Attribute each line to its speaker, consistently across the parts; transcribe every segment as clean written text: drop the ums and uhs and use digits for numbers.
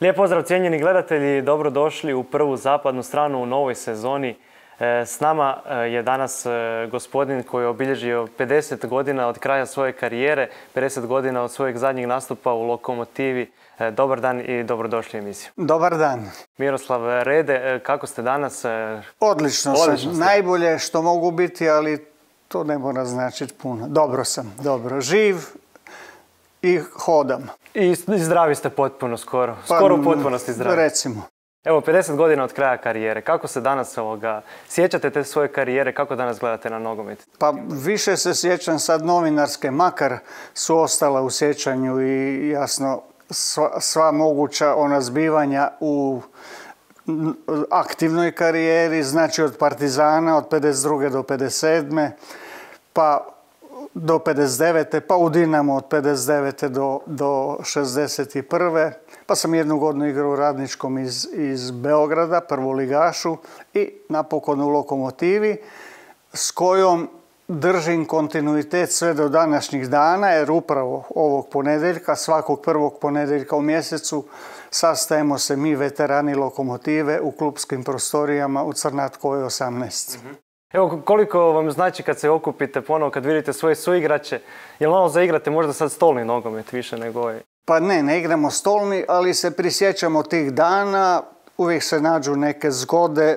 Speaker 1: Lijep pozdrav cijenjeni gledatelji, dobrodošli u prvu zapadnu stranu u novoj sezoni. S nama je danas gospodin koji je obilježio 50 godina od kraja svoje karijere, 50 godina od svojeg zadnjeg nastupa u Lokomotivi. Dobar dan i dobrodošli u emisiju.
Speaker 2: Dobar dan.
Speaker 1: Miroslav Rede, kako ste danas?
Speaker 2: Odlično sam. Najbolje što mogu biti, ali to ne mora značiti puno. Dobro sam, dobro. Živ i hodam.
Speaker 1: I zdravi ste potpuno skoro. Skoro u potpunosti zdravi.
Speaker 2: Recimo.
Speaker 1: Evo, 50 godina od kraja karijere. Kako se danas sjećate te svoje karijere? Kako danas gledate na nogomet?
Speaker 2: Pa više se sjećam sad novinarske, makar su ostala u sjećanju i jasno sva moguća ona zbivanja u aktivnoj karijeri, znači od Partizana od 52. do 57. pa do 59. pa u Dinamo od 59. do 61. Pa sam jednu godinu igrao u Radničkom iz Beograda, prvoligašu, i napokon u Lokomotivi, s kojom držim kontinuitet sve do današnjih dana, jer upravo ovog ponedjeljka, svakog prvog ponedjeljka u mjesecu, sastajemo se mi, veterani Lokomotive, u klupskim prostorijama u Crnatkoj 18.
Speaker 1: Evo, koliko vam znači kad se okupite ponovo, kad vidite svoje suigrače, jel malo zaigrate možda sad stolni nogomet više nego ovaj?
Speaker 2: Pa ne igramo stolni, ali se prisjećamo tih dana, uvijek se nađu neke zgode,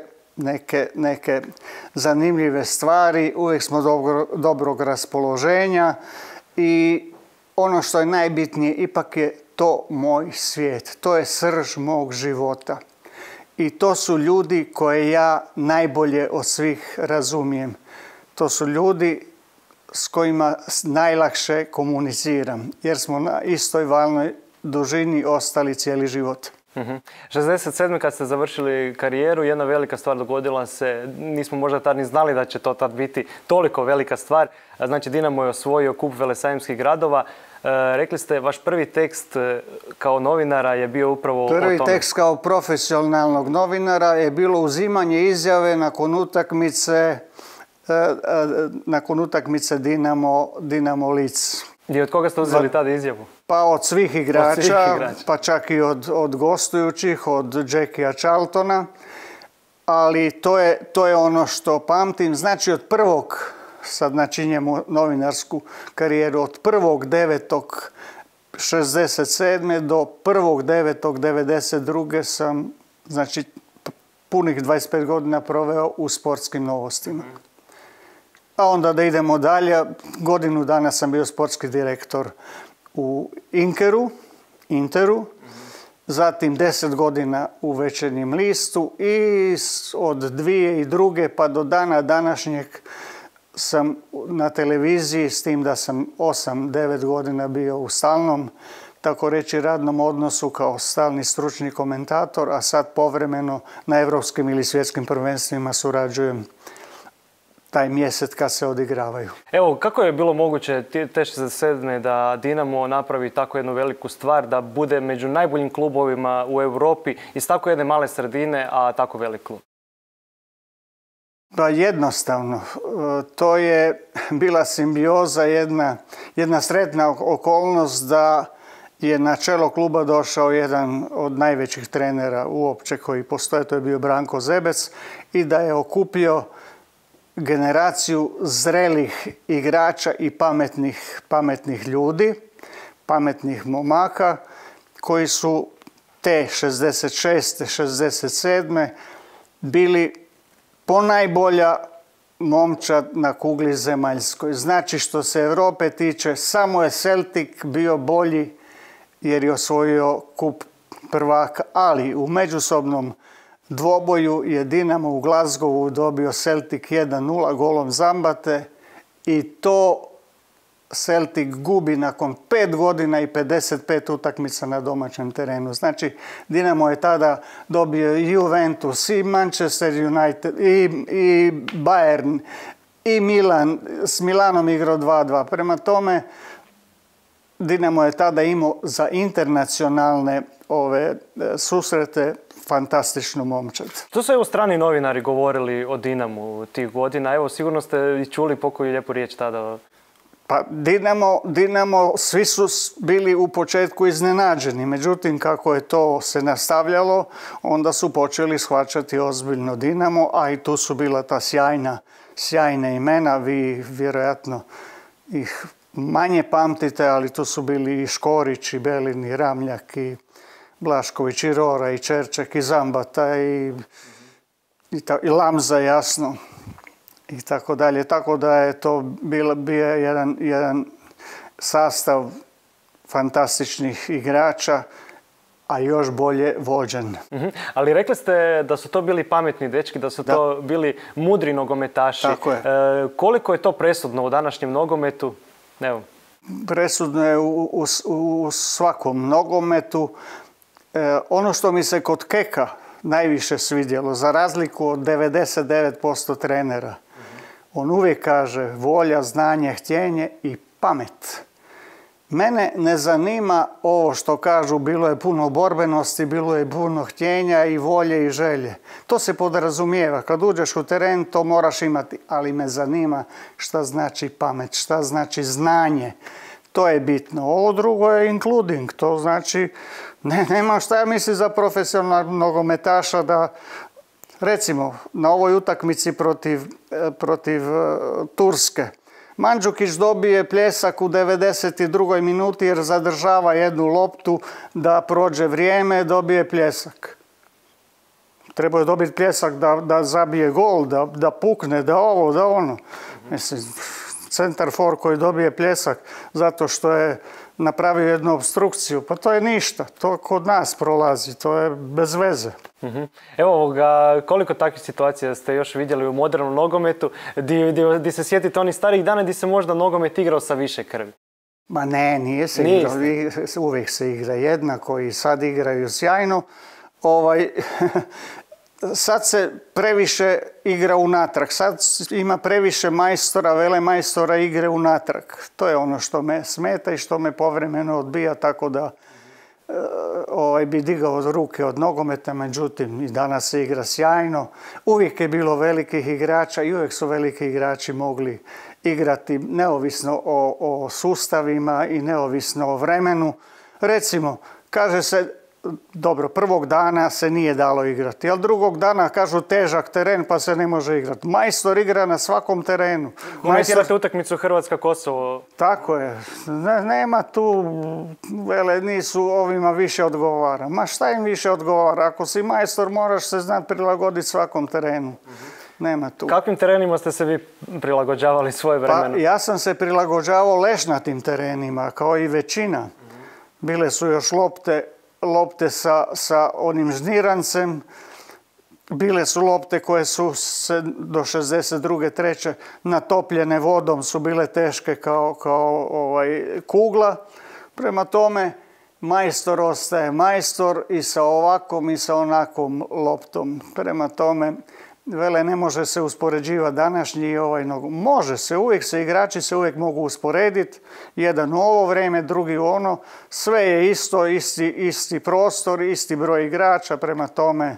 Speaker 2: neke zanimljive stvari, uvijek smo dobrog raspoloženja i ono što je najbitnije, ipak je to moj svijet, to je srž mog života. I to su ljudi koje ja najbolje od svih razumijem. To su ljudi s kojima najlakše komuniciram, jer smo na istoj valnoj dužini ostali cijeli život.
Speaker 1: 67. kad ste završili karijeru, jedna velika stvar dogodila se, nismo možda tad ni znali da će to tad biti toliko velika stvar. Znači, Dinamo je osvojio kup velesajemskih gradova. Rekli ste, vaš prvi tekst kao novinara je bio upravo o tome.
Speaker 2: Prvi tekst kao profesionalnog novinara je bilo uzimanje izjave nakon utakmice Dinamo Lic.
Speaker 1: I od koga ste uzeli tada izjavu?
Speaker 2: Pa od svih igrača, pa čak i od gostujućih, od Jackija Charltona. Ali to je ono što pamtim. Znači od prvog, sad načinjemo novinarsku karijeru, od 1.9.67. do 1.9.92. sam, znači, punih 25 godina proveo u sportskim novostima. A onda da idemo dalje, godinu dana sam bio sportski direktor u Interu, zatim 10 godina u Večernjem listu i od 2002. pa do dana današnjeg sam na televiziji, s tim da sam 8-9 godina bio u stalnom, tako reći, radnom odnosu kao stalni stručni komentator, a sad povremeno na europskim ili svjetskim prvenstvima surađujem taj mjesec kad se odigravaju.
Speaker 1: Evo, kako je bilo moguće te 67. da Dinamo napravi tako jednu veliku stvar, da bude među najboljim klubovima u Europi iz tako jedne male sredine, a tako velik klub?
Speaker 2: Pa jednostavno, to je bila simbioza, jedna sretna okolnost da je na čelo kluba došao jedan od najvećih trenera uopće koji postoje, to je bio Branko Zebec, i da je okupio generaciju zrelih igrača i pametnih ljudi, pametnih momaka, koji su te 66. 67. bili ponajbolja momčad na kugli zemaljskoj. Znači, što se Europe tiče, samo je Celtic bio bolji jer je osvojio kup prvaka, ali u međusobnom dvoboju je Dinamo u Glasgowu dobio Celtic 1-0 golom Zambate i to Celtic gubi nakon 5 godina i 55 utakmica na domaćem terenu. Znači, Dinamo je tada dobio i Juventus, i Manchester United, i Bayern, i Milan. S Milanom igrao 2-2. Prema tome, Dinamo je tada imao za internacionalne susrete fantastičnu momčad.
Speaker 1: To su evo strani novinari govorili o Dinamu tih godina. Evo, sigurno ste i čuli pokoju lijepu riječ tada.
Speaker 2: Pa Dinamo, svi su bili u početku iznenađeni, međutim kako je to se nastavljalo, onda su počeli shvaćati ozbiljno Dinamo, a i tu su bila ta sjajna imena, vi vjerojatno ih manje pamtite, ali tu su bili i Škorić, i Belin, i Ramljak, i Blašković, i Rora, i Čerček, i Zambata, i Lamza, jasno. I tako dalje. Tako da je to bio jedan sastav fantastičnih igrača, a još bolje vođen.
Speaker 1: Ali rekli ste da su to bili pametni dečki, da su to bili mudri nogometaši.
Speaker 2: Tako je.
Speaker 1: Koliko je to presudno u današnjem nogometu? Evo.
Speaker 2: Presudno je u svakom nogometu. Ono što mi se kod Keka najviše svidjelo, za razliku od 99% trenera, on uvijek kaže volja, znanje, htjenje i pamet. Mene ne zanima ovo što kažu, bilo je puno borbenosti, bilo je puno htjenja i volje i želje. To se podrazumijeva. Kad uđeš u teren, to moraš imati. Ali me zanima šta znači pamet, šta znači znanje. To je bitno. Ovo drugo je including. To znači, nema šta ja mislim za profesionalnog nogometaša da, recimo, na ovoj utakmici protiv Turske, Mandžukić dobije pljesak u 92. minuti jer zadržava jednu loptu da prođe vrijeme, dobije pljesak. Trebao je dobiti pljesak da zabije gol, da pukne, da ovo, da ono. Mislim, centar for koji dobije pljesak zato što je napravio jednu obstrukciju, pa to je ništa. To kod nas prolazi, to je bez veze.
Speaker 1: Evo koliko takvih situacija ste još vidjeli u modernom nogometu, gdje se sjetite onih starih dana gdje se možda nogomet igrao sa više krvi?
Speaker 2: Ma ne, nije se igrao. Uvijek se igra jednako i sad igraju sjajno. Sad se previše igra unatrag. Sad ima previše majstora, velemajstora igre unatrag. To je ono što me smeta i što me povremeno odbija, tako da bi digao ruke od nogometa, međutim i danas se igra sjajno. Uvijek je bilo velikih igrača i uvijek su veliki igrači mogli igrati neovisno o sustavima i neovisno o vremenu. Recimo, kaže se, dobro, prvog dana se nije dalo igrati, ali drugog dana kažu težak teren pa se ne može igrati. Majstor igra na svakom terenu.
Speaker 1: Komentirate utakmicu Hrvatska-Kosovo?
Speaker 2: Tako je. Nema tu, nisu ovima više odgovara. Ma šta im više odgovara? Ako si majstor moraš se znati prilagoditi svakom terenu. Nema tu.
Speaker 1: Kakvim terenima ste se vi prilagođavali svoje vremena?
Speaker 2: Pa ja sam se prilagođavao ležnatim terenima, kao i većina. Bile su još lopte sa onim žnirancem, bile su lopte koje su se do 62. 3. natopljene vodom, su bile teške kao kugla. Prema tome, majstor ostaje majstor i sa ovakvom i sa onakvom loptom. Prema tome, ne može se uspoređivati današnji i ovaj nogomet. Može se, igrači se uvijek mogu usporediti. Jedan u ovo vrijeme, drugi u ono. Sve je isto, isti prostor, isti broj igrača, prema tome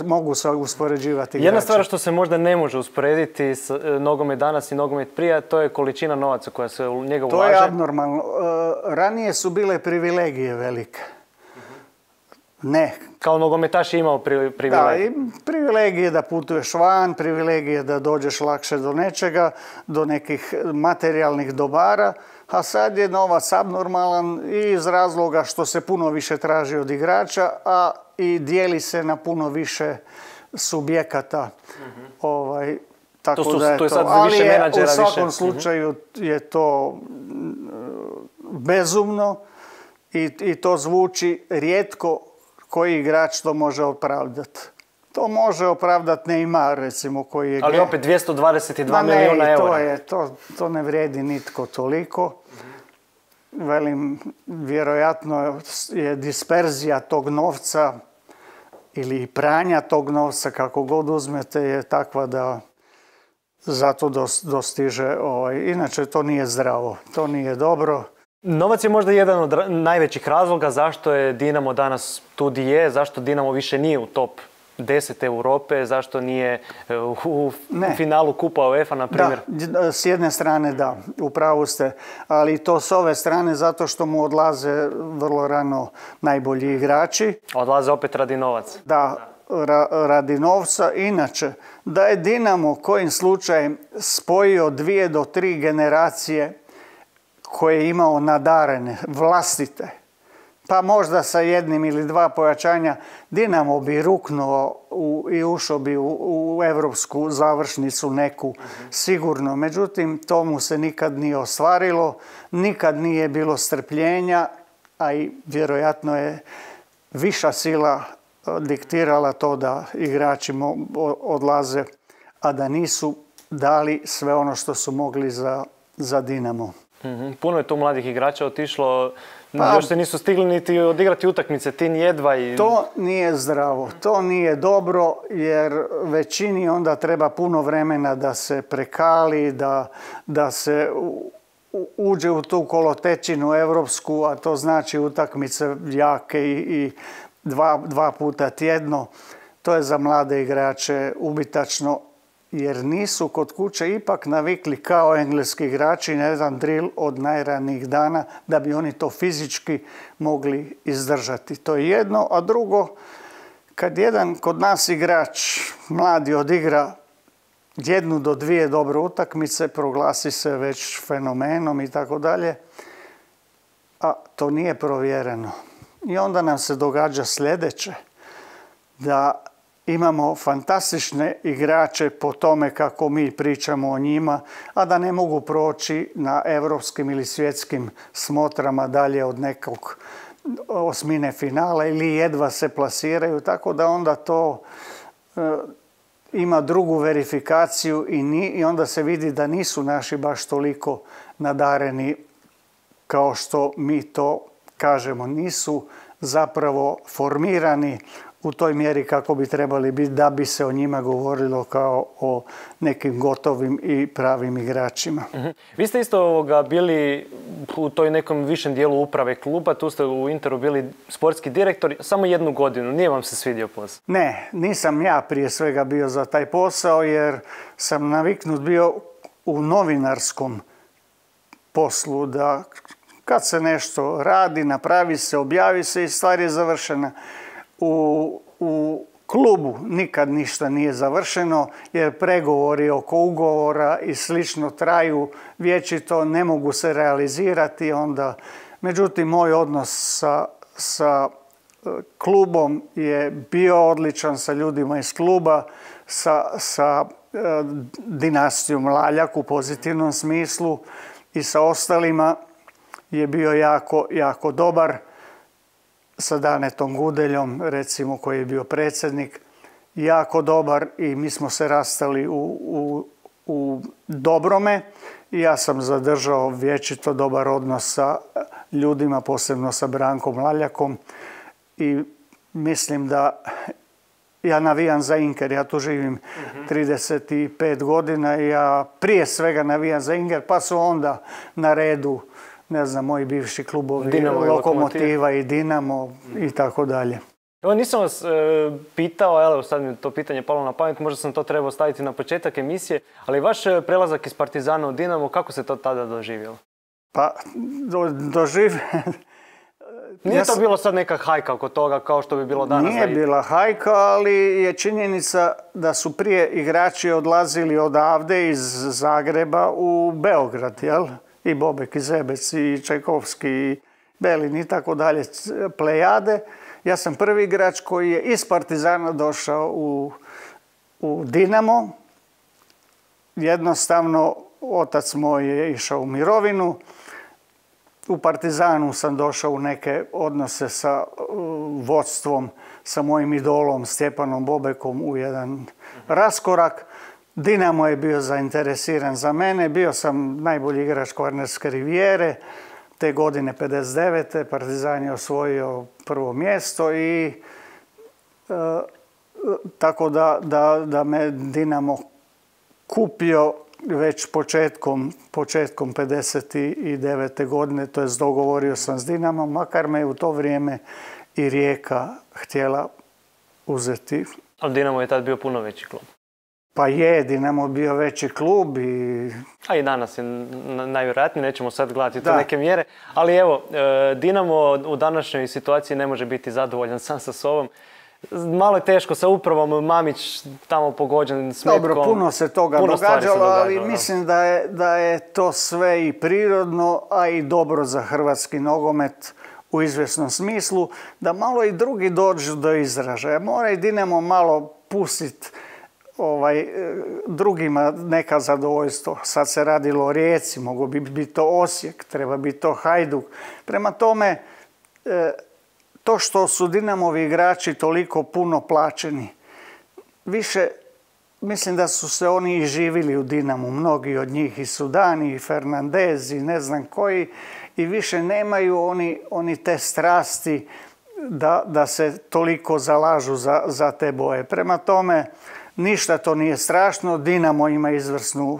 Speaker 2: mogu se uspoređivati igrači.
Speaker 1: Jedna stvar što se možda ne može usporediti s nogomet danas i nogomet prije, to je količina novaca koja se u njega ulaže.
Speaker 2: To je abnormalno. Ranije su bile privilegije velike. Ne.
Speaker 1: Kao nogometaš je imao privilegije.
Speaker 2: Da, i privilegije da putuješ van, privilegije da dođeš lakše do nečega, do nekih materijalnih dobara, a sad je novac abnormalan i iz razloga što se puno više traži od igrača, a i dijeli se na puno više subjekata. Tako da je to. Ali u svakom slučaju je to bezumno i to zvuči rijetko koji igrač to može opravdati. To može opravdati Neymar, recimo, koji je...
Speaker 1: Ali opet 222 milijuna eura.
Speaker 2: To ne vrijedi nitko toliko. Velim, vjerojatno je disperzija tog novca ili pranja tog novca, kako god uzmete, je takva da zato dostiže... Inače, to nije zdravo, to nije dobro.
Speaker 1: Novac je možda jedan od najvećih razloga zašto je Dinamo danas tu di je, zašto Dinamo više nije u top 10 Europe, zašto nije u finalu Kupa UEFA, na primjer?
Speaker 2: Da, s jedne strane da, u pravu ste, ali to s ove strane zato što mu odlaze vrlo rano najbolji igrači.
Speaker 1: Odlaze opet radi novaca.
Speaker 2: Da, radi novca. Inače, da je Dinamo kojim slučajem spojio 2 do 3 generacije koje je imao nadarene, vlastite, pa možda sa 1 ili 2 pojačanja, Dinamo bi ruknuo i ušao bi u europsku završnicu neku, sigurno. Međutim, to mu se nikad nije ostvarilo, nikad nije bilo strpljenja, a i vjerojatno je viša sila diktirala to da igrači odlaze, a da nisu dali sve ono što su mogli za Dinamo.
Speaker 1: Puno je tu mladih igrača otišlo, još se nisu stigli niti odigrati utakmice, Tin jedva.
Speaker 2: To nije zdravo, to nije dobro, jer većini onda treba puno vremena da se prekali, da se uđe u tu kolotečinu europsku, a to znači utakmice jake i 2 puta tjedno. To je za mlade igrače ubitačno, jer nisu kod kuće ipak navikli kao engleski igrači na jedan drill od najranijih dana da bi oni to fizički mogli izdržati. To je jedno, a drugo, kad jedan kod nas igrač mladi odigra 1 do 2 dobre utakmice, proglasi se već fenomenom i tako dalje, a to nije provjereno. I onda nam se događa sljedeće, da imamo fantastične igrače po tome kako mi pričamo o njima, a da ne mogu proći na europskim ili svjetskim smotrama dalje od nekog osmine finala ili jedva se plasiraju, tako da onda to ima drugu verifikaciju i onda se vidi da nisu naši baš toliko nadareni kao što mi to kažemo. Nisu zapravo formirani u toj mjeri kako bi trebali biti da bi se o njima govorilo kao o nekim gotovim i pravim igračima.
Speaker 1: Vi ste isto bili u toj nekom višem dijelu uprave kluba, tu ste u Interu bili sportski direktor, samo 1 godinu, nije vam se svidio posao?
Speaker 2: Ne, nisam ja prije svega bio za taj posao jer sam naviknut bio u novinarskom poslu da kad se nešto radi, napravi se, objavi se i stvar je završena. U klubu nikad ništa nije završeno jer pregovori oko ugovora i slično traju vječito, ne mogu se realizirati onda. Međutim, moj odnos sa klubom je bio odličan, sa ljudima iz kluba, sa dinastijom Laljak u pozitivnom smislu i sa ostalima je bio jako, jako dobar. Sa Danetom Gudeljom, recimo, koji je bio predsjednik, jako dobar i mi smo se rastali u dobrome i ja sam zadržao vječito dobar odnos sa ljudima, posebno sa Brankom Laljakom i mislim da ja navijam za Inker, ja tu živim 35 godina i ja prije svega navijam za Inker, pa su onda na redu ne znam, moji bivši klubovi,
Speaker 1: Dinamo,
Speaker 2: Lokomotiva i Dinamo i tako dalje.
Speaker 1: Evo, nisam vas pitao, evo sad mi to pitanje palo na pamet, možda sam to trebao staviti na početak emisije, ali vaš prelazak iz Partizana u Dinamo, kako se to tada doživjelo?
Speaker 2: Pa,
Speaker 1: Nije to bilo sad neka hajka oko toga kao što bi bilo danas?
Speaker 2: Nije bila hajka, ali je činjenica da su prije igrači odlazili odavde iz Zagreba u Beograd, jel? I Bobek, i Zebec, i Čajkovski, i Belin i tako dalje, plejade. Ja sam prvi igrač koji je iz Partizana došao u Dinamo. Jednostavno, otac moj je išao u mirovinu. U Partizanu sam došao u neke odnose sa vodstvom, sa mojim idolom Stjepanom Bobekom u jedan raskorak. Dinamo je bio zainteresiran za mene, bio sam najbolji igrač Kvarnerske rivijere, te godine 59. Partizan je osvojio prvo mjesto i tako da me Dinamo kupio već početkom 59. godine, to jest dogovorio sam s Dinamom, makar me u to vrijeme i Rijeka htjela uzeti.
Speaker 1: Ali Dinamo je tad bio puno veći klub.
Speaker 2: Pa je, Dinamo bio veći klub
Speaker 1: A i danas je najvjerojatnije, nećemo sad gledati to neke mjere. Ali evo, Dinamo u današnjoj situaciji ne može biti zadovoljan sam sa sobom. Malo je teško sa upravom, Mamić tamo pogođen s metkom.
Speaker 2: Dobro, puno se toga događalo, ali mislim da je to sve i prirodno, a i dobro za hrvatski nogomet u izvjesnom smislu, da malo i drugi dođu do izražaja. Mora i Dinamo malo pustiti drugima neka zadovoljstvo. Sad se radilo o Rijeci, mogu biti to Osijek, treba biti to Hajduk. Prema tome, to što su Dinamovi igrači toliko puno plaćeni, više mislim da su se oni i živili u Dinamu, mnogi od njih i Sudani, i Fernandez, i ne znam koji, i više nemaju oni te strasti da se toliko zalažu za te boje. Prema tome, ništa to nije strašno. Dinamo ima izvrsnu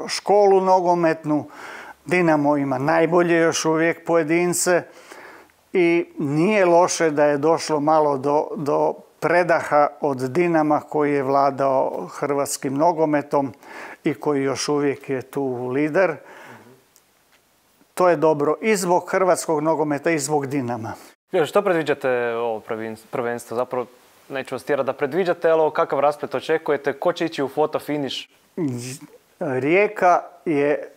Speaker 2: školu nogometnu, Dinamo ima najbolje još uvijek pojedince i nije loše da je došlo malo do predaha od Dinama koji je vladao hrvatskim nogometom i koji još uvijek je tu lider. To je dobro i zbog hrvatskog nogometa i zbog Dinama.
Speaker 1: Što predviđate ovo prvenstvo? Zapravo neću vas tjerati da predviđate, ali kakav rasplet očekujete? Ko će ići u fotofiniš?
Speaker 2: Rijeka je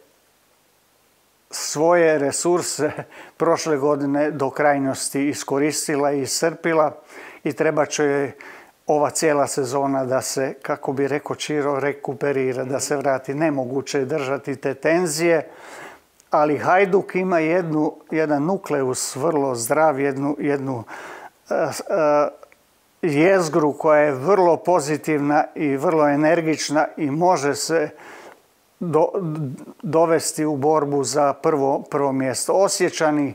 Speaker 2: svoje resurse prošle godine do krajnosti iskoristila i iscrpila i treba će joj ova cijela sezona da se, kako bi rekao Čiro, rekuperira, da se vrati. Nemoguće je držati te tenzije, ali Hajduk ima jedan nukleus vrlo zdrav, jednu jezgru koja je vrlo pozitivna i vrlo energična i može se dovesti u borbu za prvo mjesto. Osječani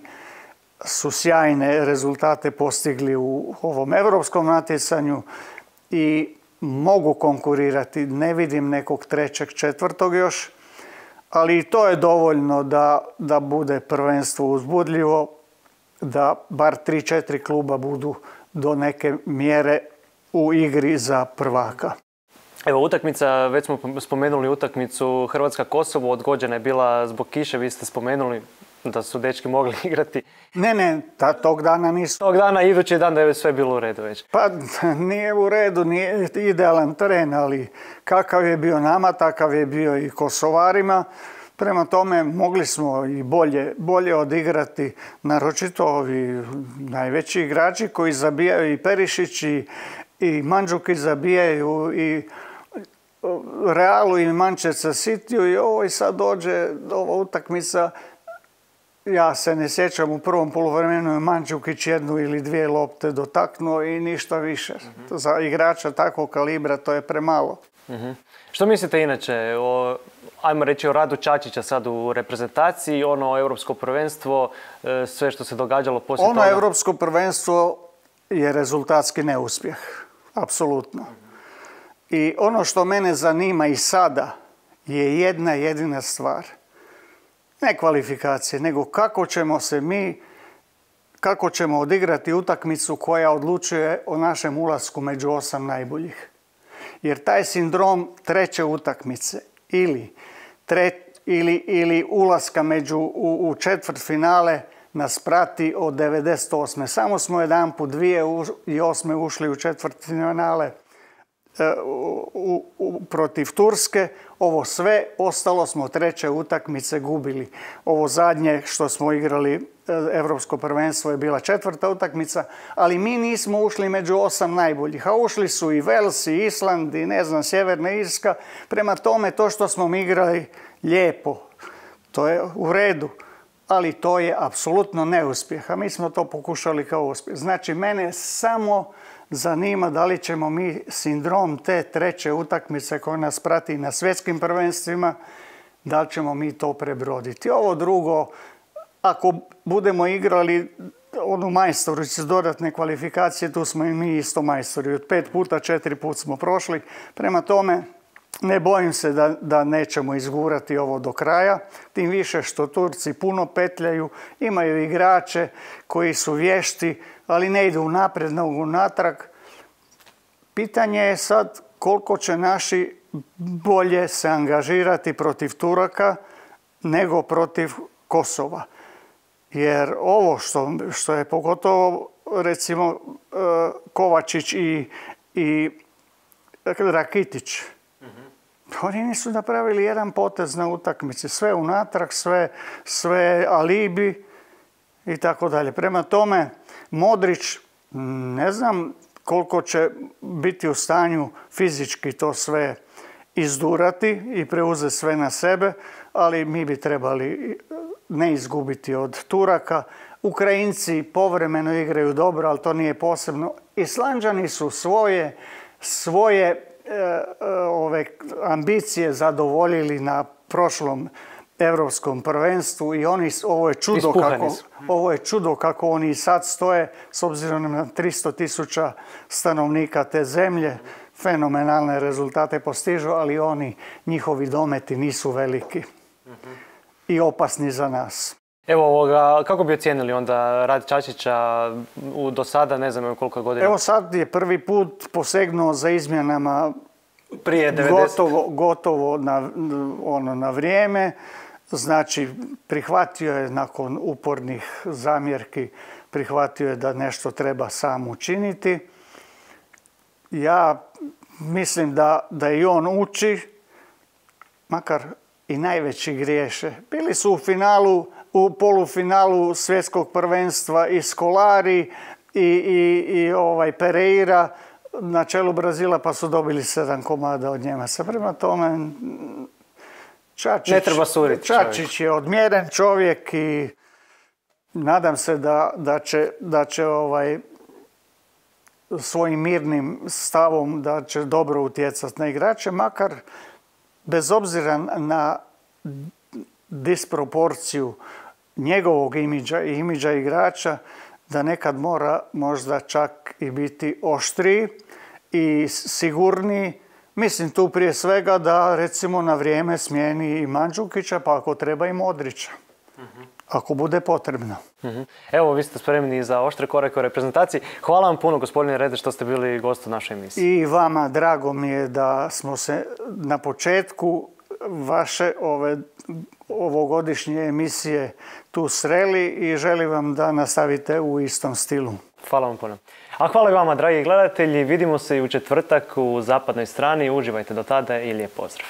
Speaker 2: su sjajne rezultate postigli u ovom europskom natjecanju i mogu konkurirati. Ne vidim nekog trećeg, četvrtog još, ali i to je dovoljno da bude prvenstvo uzbudljivo, da bar 3-4 kluba budu do neke mjere u igri za prvaka.
Speaker 1: Evo, utakmica, već smo spomenuli utakmicu Hrvatska-Kosovo, odgođena je bila zbog kiše, vi ste spomenuli da su dečki mogli igrati.
Speaker 2: Ne, tog dana nisu.
Speaker 1: Tog dana, idući dan da je sve bilo u redu već.
Speaker 2: Pa nije u redu, nije idealan teren, ali kakav je bio nama, takav je bio i Kosovarima. Prema tome mogli smo i bolje odigrati, naročito ovi najveći igrači koji zabijaju, i Perišić i Mandžukić zabijaju, i Realu i Manchester Cityu, i ovo i sad dođe ova utakmica. Ja se ne sjećam, u prvom poluvremenu je Mandžukić 1 ili 2 lopte dotaknuo i ništa više. Za igrača takvog kalibra to je premalo.
Speaker 1: Što mislite inače ajmo reći o radu Čačića sad u reprezentaciji, europsko prvenstvo, sve što se događalo poslije toga?
Speaker 2: Europsko prvenstvo je rezultatski neuspjeh, apsolutno. I ono što mene zanima i sada je jedna jedina stvar. Ne kvalifikacije, nego kako ćemo odigrati utakmicu koja odlučuje o našem ulasku među 8 najboljih. Jer taj sindrom treće utakmice ili ulaska u četvrtfinale nas prati od 98. Samo smo jedanput 2008. ušli u četvrtfinale protiv Turske. Ovo sve, ostalo smo treće utakmice gubili. Ovo zadnje što smo igrali Europsko prvenstvo je bila četvrta utakmica, ali mi nismo ušli među 8 najboljih, a ušli su i Vels, i Island, i Sjeverna Irska. Prema tome, to što smo mi igrali lijepo, to je u redu, ali to je apsolutno neuspjeh, a mi smo to pokušali kao uspjeh. Znači, mene samo zanima da li ćemo mi sindrom te treće utakmice koja nas prati na svjetskim prvenstvima, da li ćemo mi to prebroditi. Ovo drugo, ako budemo igrali onu majstoricu dodatne kvalifikacije, tu smo i mi isto majstori. Od 5 puta 4 put smo prošli. Prema tome, ne bojim se da nećemo izgurati ovo do kraja. Tim više što Turci puno petljaju, imaju igrače koji su vješti, ali ne idu naprijed, nego unatrag. pitanje je sad koliko će naši bolje se angažirati protiv Turaka nego protiv Kosova. Jer ovo što je pogotovo recimo Kovačić i Rakitić, oni nisu napravili jedan potez na utakmici. Sve unatrag, sve alibi i tako dalje. Prema tome, Modrić, ne znam koliko će biti u stanju fizički to sve izdurati i preuzeti sve na sebe, ali mi bi trebali ne izgubiti od Turaka. Ukrajinci povremeno igraju dobro, ali to nije posebno. Islanđani su svoje ove ambicije zadovoljili na prošlom Europskom prvenstvu i ovo je čudo kako oni sad stoje s obzirom na 300.000 stanovnika te zemlje. Fenomenalne rezultate postižu, ali njihovi dometi nisu veliki i opasni za nas.
Speaker 1: Evo kako bi ocijenili onda rad Čačića do sada, ne znam koliko godina?
Speaker 2: Evo sad je prvi put posegnuo za izmjenama
Speaker 1: prije 90.
Speaker 2: Gotovo na vrijeme. Znači, prihvatio je nakon upornih zamjerki, prihvatio je da nešto treba sam učiniti. Ja mislim da i on uči, makar i najveći griješe. Bili su u polufinalu svjetskog prvenstva i Scolari i Pereira na čelu Brazila, pa su dobili 7 komada od Njemaca. Prema tome, Čačić je odmjeren čovjek i nadam se da će svojim mirnim stavom da će dobro utjecati na igrače, makar bez obzira na disproporciju njegovog imidža i imidža igrača, da nekad mora možda čak i biti oštriji i sigurniji. Mislim tu prije svega da recimo na vrijeme smijeni i Mandžukića, pa ako treba i Modrića. Ako bude potrebno.
Speaker 1: Evo, vi ste spremni za oštre korake u reprezentaciji. Hvala vam puno, gospodine Rede, što ste bili gost u našoj emisiji.
Speaker 2: I vama drago mi je da smo se na početku vaše ovogodišnje emisije tu sreli i želim vam da nastavite u istom stilu.
Speaker 1: Hvala vam puno. A hvala i vama, dragi gledatelji. Vidimo se i u četvrtak u Zapadnoj strani. Uživajte do tada i lijep pozdrav.